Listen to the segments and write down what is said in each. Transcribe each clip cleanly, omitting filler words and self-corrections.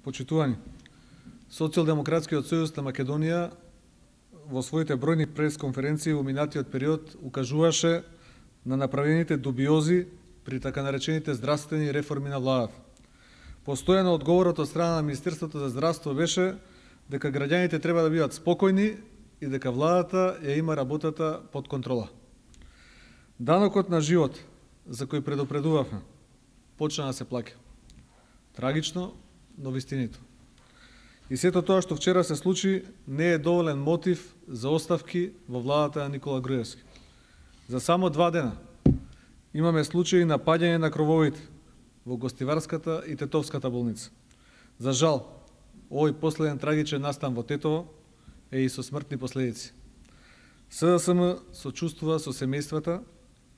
Почитувани, Социјалдемократскиот сојуз на Македонија во своите бројни пресконференции во минатиот период укажуваше на направените дубиози при така наречените здравствени реформи на владата. Постојано одговорот од страна на Министерството за здравство беше дека граѓаните треба да бидат спокојни и дека владата ја има работата под контрола. Данокот на живот, за кој предупредувавме, почна да се плаќа. Трагично, но вистинито. И сето тоа што вчера се случи не е доволен мотив за оставки во владата на Никола Груевски. За само 2 дена имаме случаи на паѓање на крововите во Гостиварската и Тетовската болница. За жал, овој последен трагичен настан во Тетово е и со смртни последици. СДСМ сочувствува со семејствата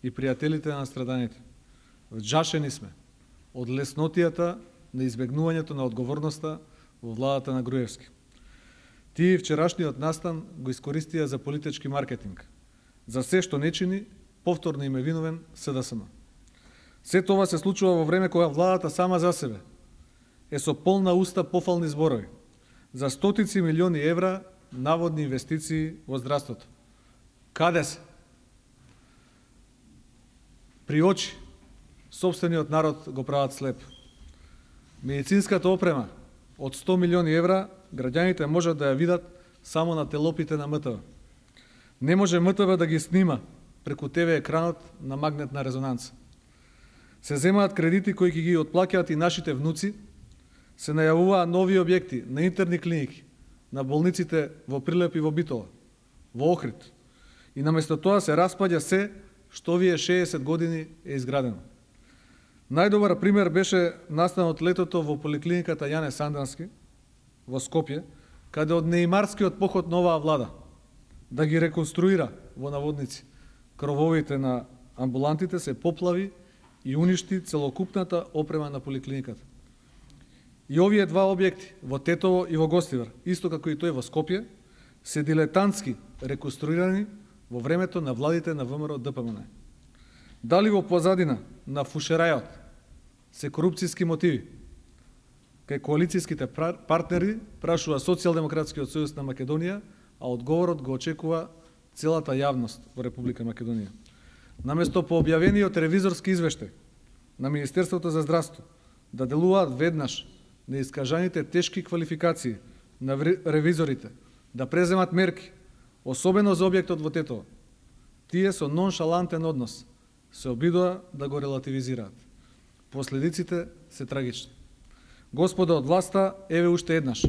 и пријателите на страданите. Вџашени сме од леснотијата на избегнувањето на одговорноста во владата на Груевски. Тие вчерашниот настан го искористија за политички маркетинг. За се што не чини, повторно им е виновен СДСМ. Се тоа се случува во време кога владата сама за себе е со полна уста пофални зборови за стотици милиони евра наводни инвестиции во здравството. Каде се? При очи сопствениот народ го прават слеп. Медицинската опрема од 100 милиони евра граѓаните можат да ја видат само на телопите на МТВ. Не може МТВ да ги снима преку ТВ екранот на магнетна резонанца. Се земаат кредити кои ги отплаќаат и нашите внуци, се најавуваа нови објекти на интерни клиники, на болниците во Прилеп и во Битола, во Охрид. И наместо тоа се распаѓа се што овие 60 години е изградено. Најдобар пример беше настанот летото во поликлиниката Јане Сандански во Скопје, каде од неимарскиот поход на оваа влада да ги реконструира во наводници крововите на амбулантите се поплави и уништи целокупната опрема на поликлиниката. И овие два објекти во Тетово и во Гостивар, исто како и тој во Скопје, се дилетантски реконструирани во времето на владите на ВМРО ДПМН. Дали во позадина на фушерајот се корупцијски мотиви? Кај коалицијските партнери прашува Социјалдемократскиот сојуз на Македонија, а одговорот го очекува целата јавност во Република Македонија. Наместо по објавениот ревизорски извештај на Министерството за здравство да делуваат веднаш на искажаните тешки квалификации на ревизорите, да преземат мерки, особено за објектот во Тетово, тие со ноншалантен однос се обидоа да го релативизираат. Последиците се трагични. Господа од власта, еве уште еднаш.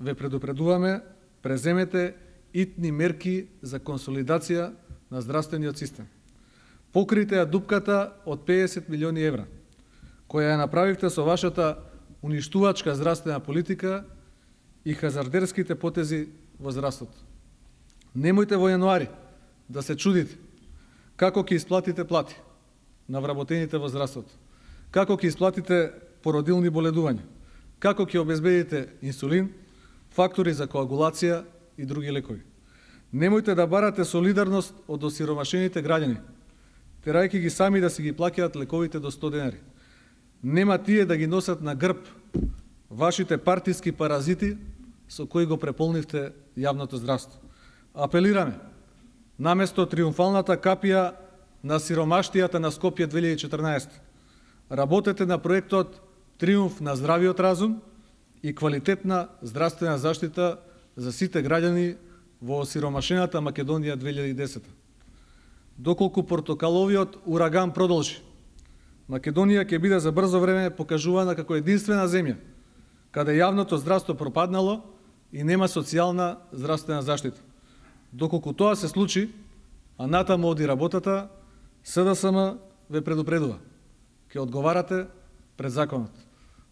Ве предупредуваме, преземете итни мерки за консолидација на здравствениот систем. Покрите ја дупката од 50 милиони евра, која ја направивте со вашата уништувачка здравствена политика и хазардерските потези во здравството. Немојте во јануари да се чудите како ќе исплатите плати на вработените во здравството, како ќе исплатите породилни боледувања, како ќе обезбедите инсулин, фактори за коагулација и други лекови. Немојте да барате солидарност од осиромашените граѓани, терајќи ги сами да си ги плаќаат лековите до 100 денари. Нема тие да ги носат на грб вашите партиски паразити со кои го преполнивте јавното здравство. Апелираме, наместо триумфалната капија на сиромаштијата на Скопје 2014, работете на проектот Триумф на здравиот разум и квалитетна здравствена заштита за сите граѓани во осиромашената Македонија 2010. Доколку портокаловиот ураган продолжи, Македонија ќе биде за брзо време покажувана како единствена земја каде јавното здравство пропаднало и нема социјална здравствена заштита. Доколку тоа се случи, а натаму оди работата, СДСМ ве предупредува. Ќе одговарате пред законот.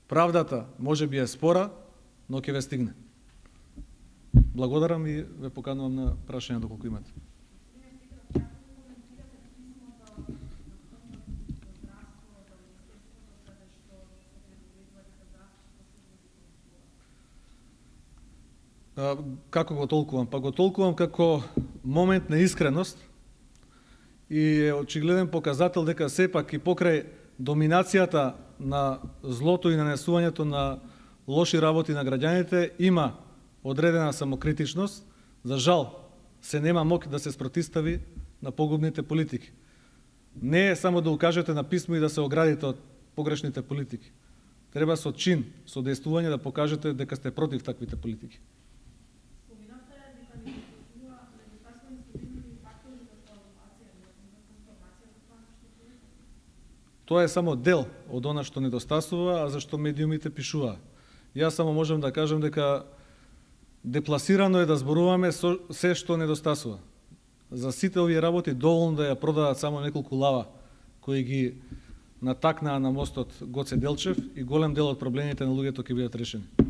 Правдата може би е спора, но ќе ве стигне. Благодарам и ве поканувам на прашања доколку имате. Како го толкувам? Па го толкувам како момент на искреност и е очигледен показател дека сепак и покрај доминацијата на злото и нанесувањето на лоши работи на граѓаните, има одредена самокритичност, за жал се нема мок да се спротистави на погубните политики. Не е само да укажете на писмо и да се оградите од погрешните политики. Треба со чин, со дејствување да покажете дека сте против таквите политики. Тоа е само дел од она што недостасува, а зашто медиумите пишуваа. Јас само можам да кажам дека депласирано е да зборуваме се што недостасува. За сите овие работи доволно да ја продадат само неколку лава кои ги натакнаа на мостот Гоце Делчев и голем дел од проблемите на луѓето ќе бидат решени.